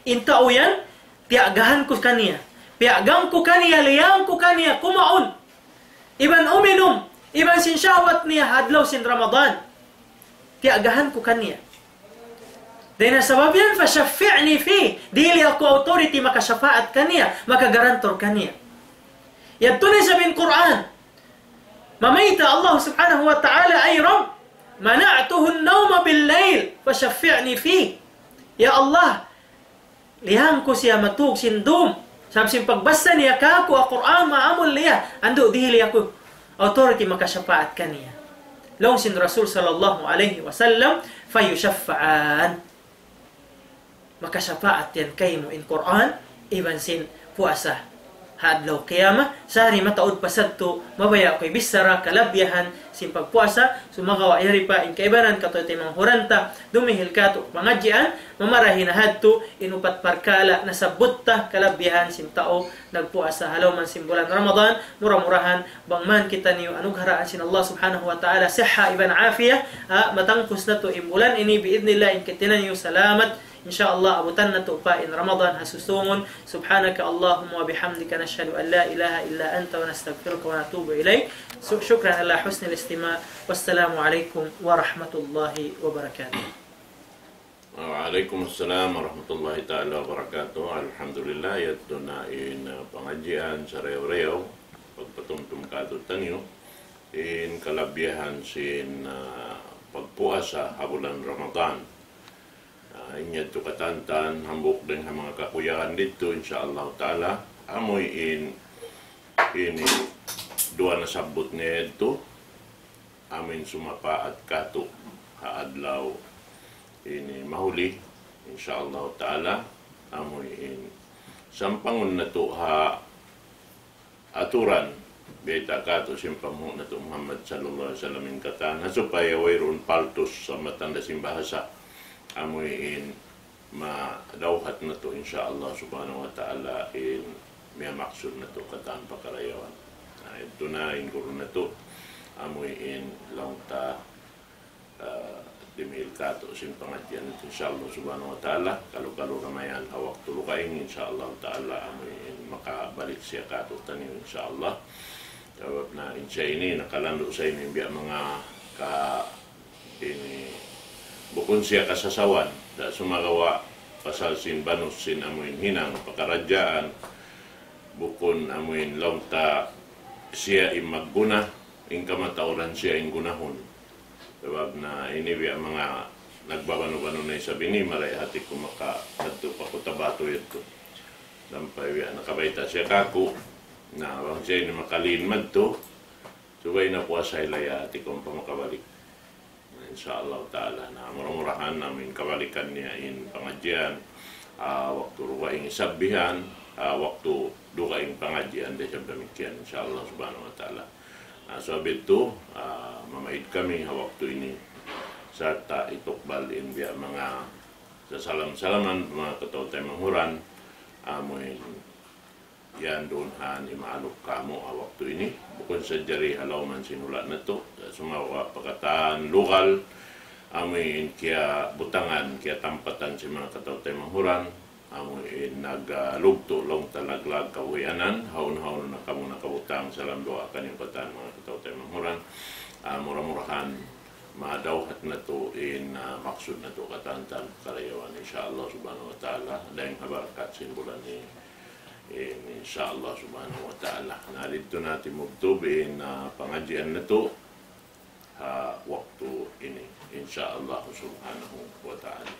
In tau yan, tiyagahan ku kaniya. Tiyagahan ku kaniya, liyang ku kaniya, kumaun. Iban uminum, iban sin shahwat niya ha adlaw sin Ramadan. Tiyagahan ku kaniya. Dayn ha sabab yan, فشفعني فيه. Dihili aku authority makasapaat kaniya, makagarantor kaniya. Yadtu na isab in Qur'an. Mamayta' Allah Subhanahu wa Ta'ala, ay Rabb, منعته النوم بالليل فشفعني فيه. Ya Allah, liyang ku siya matug sin dum. Sabab sin pagbassa niya kāku' ha Qur'an, maamul niya. Andu' dihili aku authority makasapaat kaniya. Laung sin Rasul sallallahu alayhi wasallam, فيشفعان. Makasapaat yan kaymu in Qur'an, iban sin puasa. Ha adlaw qiyamah, sari mataud pa sadtu, mabaya' ku bichara kalabihan sin pagpuasa, sumagawa' yari pa in kaibanan katu' taymanghud ta, dumihil katu' pangadjian, mamarahi na hadtu, in upat parkala' nasabbut ta kalabihan sin tau nagpuasa ha lawm sin bulan Ramadan, mura-murahan, bang man kitaniyu anugharaan sin Allah Subhanahu wa Ta'ala, siha iban afiyah, ha, matangkus natu' in bulan ini, bi'idhnillah, in kitaniyu salamat, insya Allah, abutan natu' pa in Ramadan ha susungun. سبحانك اللهم وبحمدك، نشهد أن لا إله إلا أنت، نستغفرك ونتوب إليك. Su-, شكرا على حسن الاستماع. والسلام عليكم ورحمة الله وبركاته. Wa alaykum assalam wa rahmatullahi ta'ala wa barakatuh. Alhamdulillah, yadtu na in, uh, pangadjian sarayaw-rayaw, pagpatumtum katu' taniyu, in kalabihan sin, uh, pagpuasa ha bulan Ramadan. Uh, in yadtu katantan, hambuuk dayn ha manga kakuyagan didtu, insya Allah ta'ala, amuin, ini, duwa nasabbut niya yadtu, amuin sumapaat katu' ha adlaw ini mahuli, insya Allah ta'ala, amuin sampangun natu' ha aturan, bayta' katu' sin panghu' natu' Muhammad sallallahu alayhi wasallam in katan, ha supaya wayruun paltus sa matanda sin bahasa, amuin madawhat natu', insya Allah subhanahu wa ta'ala, in miyamaksud natu' katan pakarayawan. Na, yadtu na in guru natu', amuin laung ta, ah, dimihil katu' sin pangadjian natu', insya Allah subhanahu wa ta'ala, kalu-kalu na mayan ha waktu dugaing, insya Allah ta'ala, amuin makabalik siya katu' taniyu, insya Allah. Sabab na in siya ini, nakalandu' sa ini, biya' manga ka ini, bukun siya kasasawan, da sumagawa' pasal sin banus sin amuin hinang pakaradjaan, bukun amuin laung ta siya in magguna, in kamatauran siya in gunahun. Sabab na ini biya' manga nagbabanu-banu na isab ini, marayaw hati ku makadtu pa Cotabato yadtu. Sampay biya' nakabayta' siya kāku', na bang siya ini makalin madtu, subay na puasa ilaya hati ku ampa makabalik. Insya Allah ta'ala. Na, mura-murahan amuin kabalikan niya in pangadjian, ah, waktu dugaing isab bihan, ah, waktu dugaing pangadjian da isab damikkiyan, insya Allah subhanahu wa ta'ala. Na, sabab yadtu, ah, mamaid kami ha waktu ini, sarta' itukbal in biya' manga sasalam-salaman, manga kataw-taymanghuran, amuin yan duun ha ini maaluk kamu' ha waktu ini. Bukun sadja di ha lawm sin hula' natu', sumagawa' pa katan lugal, amuin kiyabutangan, kiyatampatan sin manga kataw-taymanghuran, amuin nag, ah, lugtu' laung ta laglag kabuhianan, hawnu-hawnu na kamu nakabutang, salam duwaa kaniyu katan manga kataw-taymanghuran. Ah, mura-murahan madawhat natu' in, ah, maksud natu' katantan karayawan, insya Allah subhanahu wa ta'ala, dayn ha barakat sin bulan ini. In, insya Allah subhanahu wa ta'ala. Na, didtu na timubtub in, ah, pangadjian natu' ha waktu إن شاء الله سبحانه وتعالى.